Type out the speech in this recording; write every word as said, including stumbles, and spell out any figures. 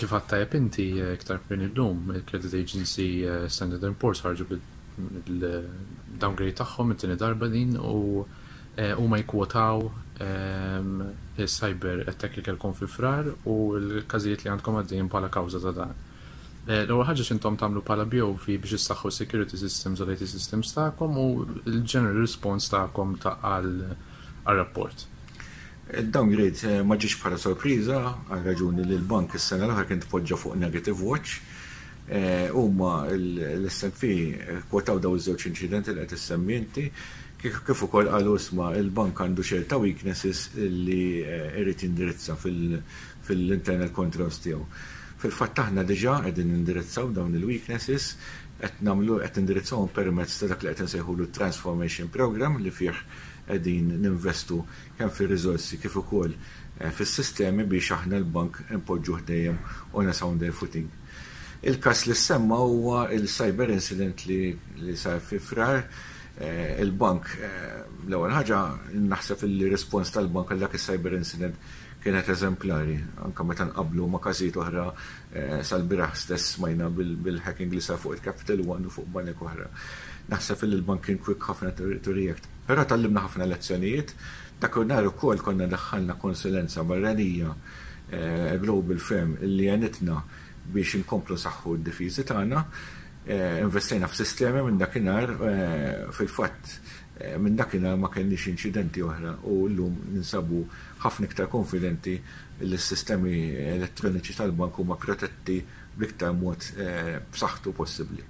Kif għedt tajjeb inti, iktar kmieni llum, il-Credit Agency Standard and Poor's ħarġu bil-downgrade tagħhom, it-tieni darba din, u huma jkwotaw il-cyber attack li kellkom fi Frar u l-każijiet li għandkom għaddejjin bħala kawża ta' dan. L-ewwel ħaġa, x'intom tagħmlu bħala B O V biex issaħħu security systems u l-I T systems tagħkom u l-general response tagħkom ta' għal rapport? Il-downgrade ma ġiex bħala sorpriża għal raġuni li l-bank is-sena l-oħra kien tpoġġa fuq negative watch. Huma l-S and P kwotaw daw iż-żewġ inċidenti li qed issemmi inti, kif ukoll qalu, isma', il-bank għandu ċerta weaknesses li irid jindirizza fil-internal controls tiegħu. Fil-fatt aħna diġà qegħdin nindirizzaw dawn il-weaknesses, qed nagħmlu qed nindirizzawhom permezz ta' dak li qed insejħulu Transformation Program, li fih qegħdin ninvestu kemm fir-riżorsi kif ukoll fis-sistemi biex aħna l-bank impoġġuh dejjem on a sounder footing. Il-kas li semma huwa il-cyber incident li, li sar fi Frar. Il-bank, l-ewwel ħaġa, naħseb il-respons tal-bank għal dak il-cyber incident kienet eżemplari, anka meta nqablu ma' każijiet oħra. Sal-bieraħ stess smajna bil-hacking li sar fuq il-Capital One u fuq banek oħra. Naħseb il bank kien quick ħafna to react. Però tgħallimna ħafna lezzjonijiet. Dak nhar ukoll konna daħħalna konsulenza barranija, global firm, li għenitna biex inkomplu nsaħħu d-difiżi tagħna. Investejna f'sistemi minn dakinhar, fil-fatt minn dakinhar ma kellniex inċidenti oħra u llum ninsabu ħafna iktar konfidenti li s-sistemi elettroniċi tal-bank huma protetti bl-iktar mod b'saħħtu possibbli.